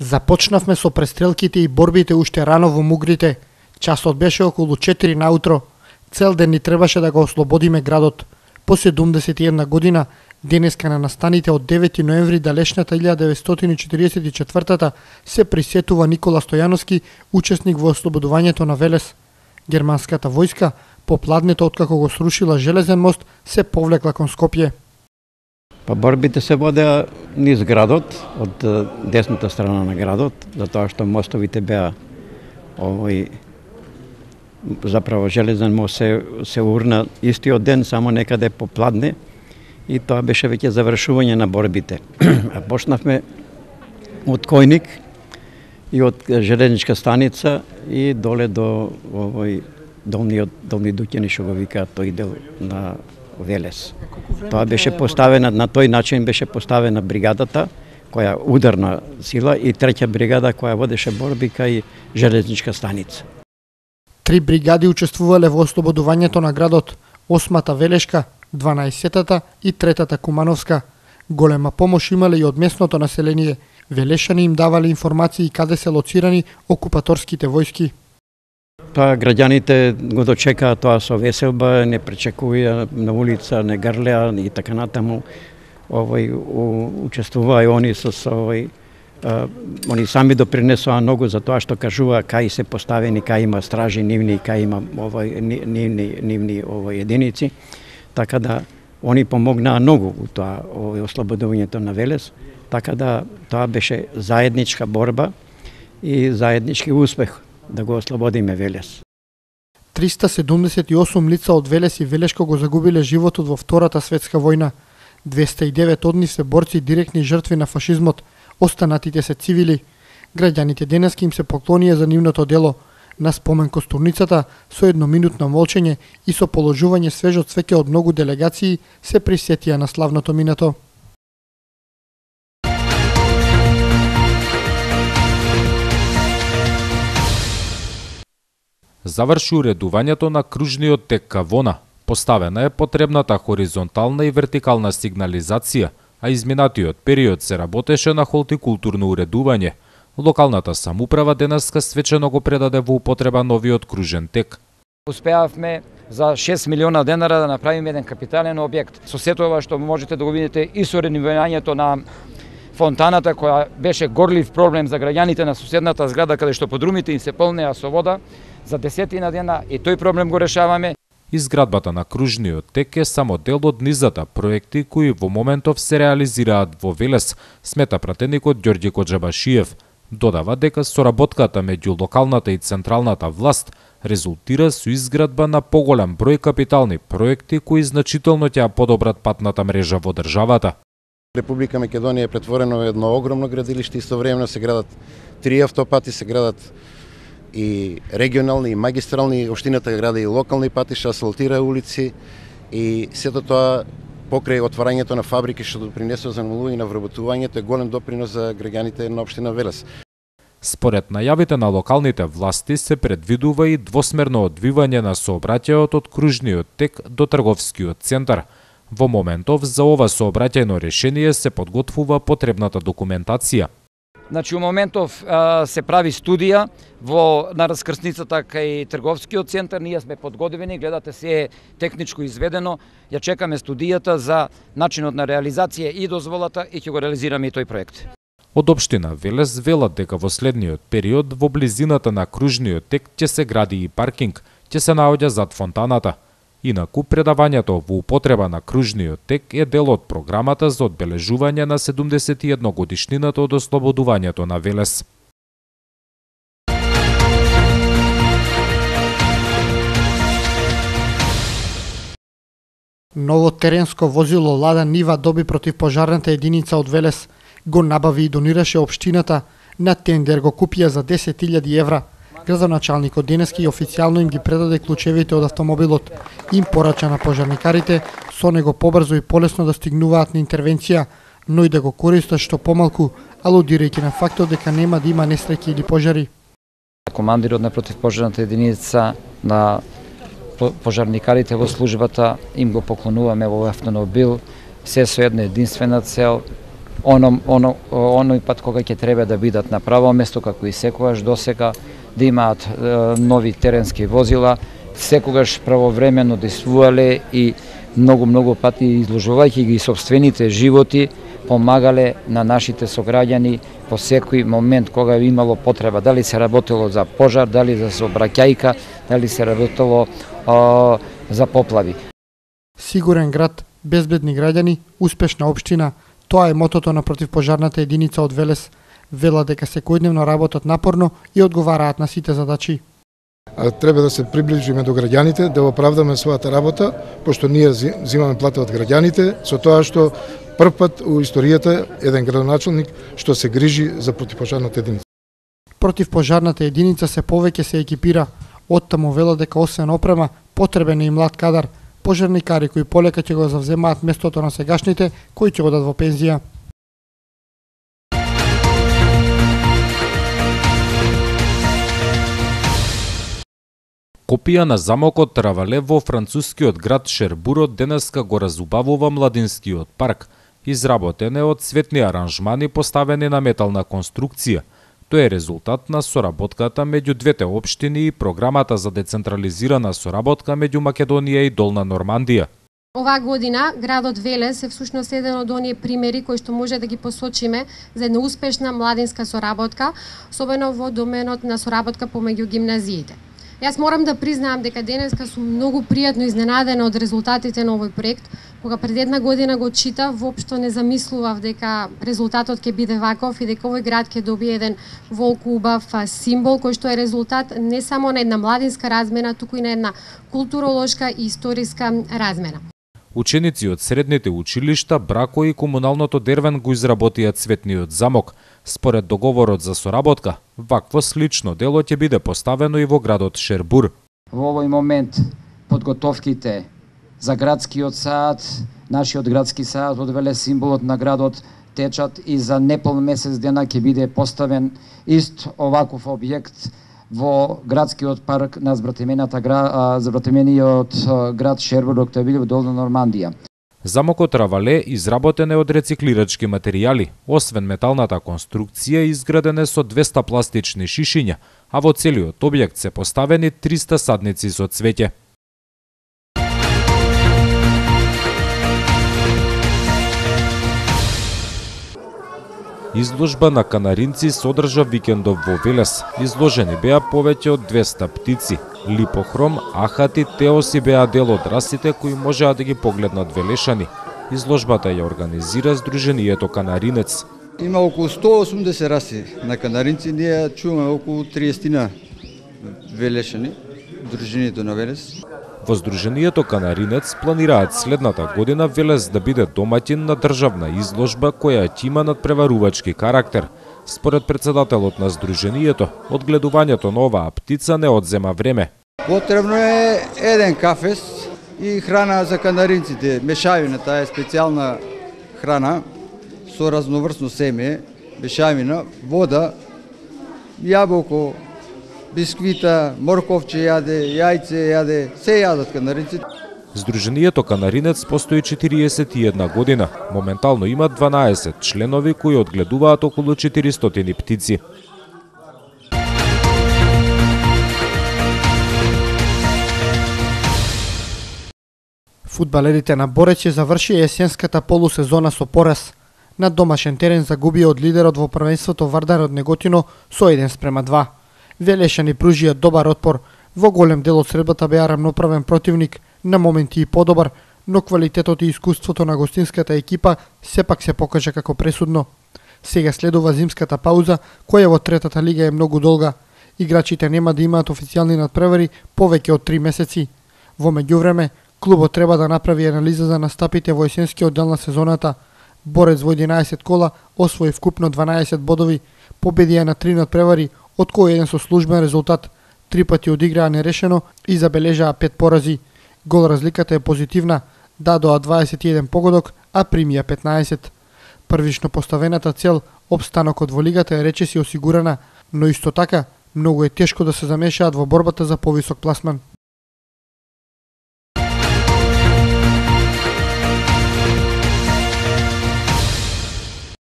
Започнавме со престрелките и борбите уште рано во Мугрите. Часот беше околу 4 наутро. Цел ден ни требаше да го ослободиме градот. По 71 година, денеска на настаните од 9 ноември далечната 1944 се присетува Никола Стојановски, учесник во ослободувањето на Велес. Германската војска, по пладнето откако го срушила железен мост, се повлекла кон Скопје. Па борбите се водеа низ градот, од десната страна на градот, затоа што мостовите беа заправо железен мост се урна истиот ден, само некаде по пладне, и тоа беше веќе завршување на борбите. Почнавме од Којник и од железничка станица и доле до долни Дуќани, што го викаат тој дел на Велес. Тоа беше поставена, на тој начин беше поставена бригадата, која ударна сила, и треќа бригада која водеше борби кај железничка станица. 3 бригади учествувале во ослободувањето на градот: 8-та Велешка, 12-та и 3-та Кумановска. Голема помош имале и од местното население. Велешани им давале информации каде се лоцирани окупаторските војски. Тоа граѓаните го дочекаа тоа со веселба, не пречекуваја на улица, не грлеа и така натаму. Учествуваа и они они сами допринесоа многу за тоа што кажуваа кај се поставени, кај има стражи нивни, кај има нивни единици. Така да они помогнаа многу у тоа ослободувањето на Велес. Така да тоа беше заедничка борба и заеднички успех да го ослободиме Велес. 378 лица од Велес и Велешко го загубиле животот во Втората светска војна. 209 од нив се борци директни жртви на фашизмот, останатите се цивили. Граѓаните денеска им се поклонија за нивното дело. На спомен костурницата, со едноминутно молчење и со положување свежо цвеќе од многу делегации, се присетија на славното минато. Заврши уредувањето на кружниот тек Кавона. Поставена е потребната хоризонтална и вертикална сигнализација, а изминатиот период се работеше на холтикултурно уредување. Локалната самоуправа денеска свечено го предаде во употреба новиот кружен тек. Успеавме за 6 милиона денара да направиме еден капитален објект. Со сето ова што можете да го видите и со реновирањето на фонтаната, која беше горлив проблем за граѓаните на соседната зграда, каде што подрумите им се полнеа со вода, за 10 дена и тој проблем го решаваме. Изградбата на кружниот тек е само дел од низата проекти кои во моментов се реализираат во Велес, смета пратеникот Ѓорѓе Коџабашиев. Додава дека соработката меѓу локалната и централната власт резултира со изградба на поголем број капитални проекти кои значително ќе подобрат патната мрежа во државата. Република Македонија е претворена во едно огромно градилиште, истовремено се градат 3 автопати, се градат и регионални и магистрални, општината гради и локални патишта, асфалтира улици, и сето тоа покрај отварањето на фабрики што допринесува за намалување на вработувањето е голем допринос за граѓаните на општина Велес. Според најавите на локалните власти се предвидува и двосмерно одвивање на сообраќајот од кружниот тек до трговскиот центар. Во моментов за ова сообраќајно решение се подготвува потребната документација. Значи, у моментов се прави студија на раскрсницата кај трговскиот центар. Ние сме подготвени, гледате се е техничко изведено. Ја чекаме студијата за начинот на реализација и дозволата и ќе го реализираме и тој проект. Од општина Велес велат дека во следниот период во близината на кружниот тек ќе се гради и паркинг, ќе се наоѓа зад фонтаната. Инаку, предавањето во употреба на кружниот тек е дел од програмата за одбележување на 71 годишнината од ослободувањето на Велес. Ново теренско возило Лада Нива доби противпожарната единица од Велес. Го набави и донираше општината, на тендер го купија за 10.000 евра. Градоначалникот денеска и официјално им ги предаде клучевите од автомобилот. Им порача на пожарникарите со него побрзо и полесно да стигнуваат на интервенција, но и да го користат што помалку, алудирајќи на фактот дека нема да има несреќи или пожари. Командирот на противпожарната единица, на пожарникарите во службата, им го поклонуваме во автомобил, се со една единствена цел, оној пат кога ќе треба да бидат на право место, како и секогаш досега, да имаат нови теренски возила, секогаш правовремено действувале и многу пати изложувајќи ги сопствените животи, помагале на нашите сограѓани по секој момент кога е имало потреба, дали се работело за пожар, дали за сообраќајка, дали се работело за поплави. Сигурен град, безбедни граѓани, успешна општина, тоа е мотото на противпожарната единица од Велес. Вела дека секојдневно работат напорно и одговараат на сите задачи. Треба да се приближиме до граѓаните, да оправдаме својата работа, пошто ние земаме плата од граѓаните, со тоа што прв пат у историјата еден градоначалник што се грижи за противпожарната единица. Противпожарната единица се повеќе се екипира. Оттаму вела дека освен опрема, потребен е и млад кадар, пожарникари кои полека ќе го завземаат местото на сегашните кои ќе одат во пензија. Копија на замокот Травале во францускиот град Шербурот денеска го разубавува младинскиот парк. Изработен е од цветни аранжмани поставени на метална конструкција. Тоа е резултат на соработката меѓу двете општини и програмата за децентрализирана соработка меѓу Македонија и Долна Нормандија. Оваа година градот Велес е всушност еден од оние примери кои што може да ги посочиме за една успешна младинска соработка, особено во доменот на соработка помеѓу гимназиите. Јас морам да признаам дека денеска сум многу пријатно изненадена од резултатите на овој проект. Кога пред една година го читав, воопшто не замислував дека резултатот ќе биде ваков и дека овој град ќе добие еден волку убав символ кој што е резултат не само на една младинска размена, туку и на една културолошка и историска размена. Ученици од средните училишта, Брако и комуналното Дервен го изработија цветниот замок. Според договорот за соработка, вакво слично дело ќе биде поставено и во градот Шербур. Во овој момент подготовките за градскиот сад, нашиот градски сад од Велес, символот на градот, течат и за непол месец дена ќе биде поставен ист оваков објект во градскиот парк на забратимениот град Шербур, што биде во Долна Нормандија. Замокот Травале изработен е од рециклирачки материјали. Освен металната конструкција, изграден е со 200 пластични шишиња, а во целиот објект се поставени 300 садници со цвеќе. Изложба на канаринци содржа викендов во Велес. Изложени беа повеќе од 200 птици. Липохром, ахати, теоси беа дел од расите кои можеа да ги погледнат велешани. Изложбата ја организира Сдруженијето Канаринец. Има околу 180 раси на канаринци, ние чуваме околу 30 велешани, Сдруженијето на Велес. Во Сдруженијето Канаринец планираат следната година Велес да биде домаќин на државна изложба која ќе има надпреварувачки карактер. Според председателот на Сдруженијето, одгледувањето на оваа птица не одзема време. Потребно е еден кафес и храна за канаринците. Мешавина, таа е специјална храна со разноврсно семе, мешавина, вода, јаболко, бисквита, морковче јаде, јајце јаде, се јадат канаринците. Сдруженијето Канаринец постои 41 година. Моментално има 12 членови кои одгледуваат околу 400 птици. Фудбалерите на Борече завршија есенската полусезона со пораз. На домашен терен загубија од лидерот во првенството Вардар од Неготино со 1:2. Велешани пружија добар отпор. Во голем дел од средбата беа рамноправен противник, на моменти и подобар, но квалитетот и искуството на гостинската екипа сепак се покажа како пресудно. Сега следува зимската пауза, која во третата лига е многу долга. Играчите нема да имаат официјални надпревари повеќе од 3 месеци. Во меѓувреме, клубот треба да направи анализа за настапите во есенскиот дел на сезоната. Борец во 11 кола освои вкупно 12 бодови, победија на 3 надпревари, од кој еден со службен резултат. 3 пати одиграа нерешено и забележаа 5 порази. Гол разликата е позитивна, дадоа 21 погодок, а примија 15. Првично поставената цел, опстанокот во лигата е речиси осигурана, но исто така многу е тешко да се замешаат во борбата за повисок пласман.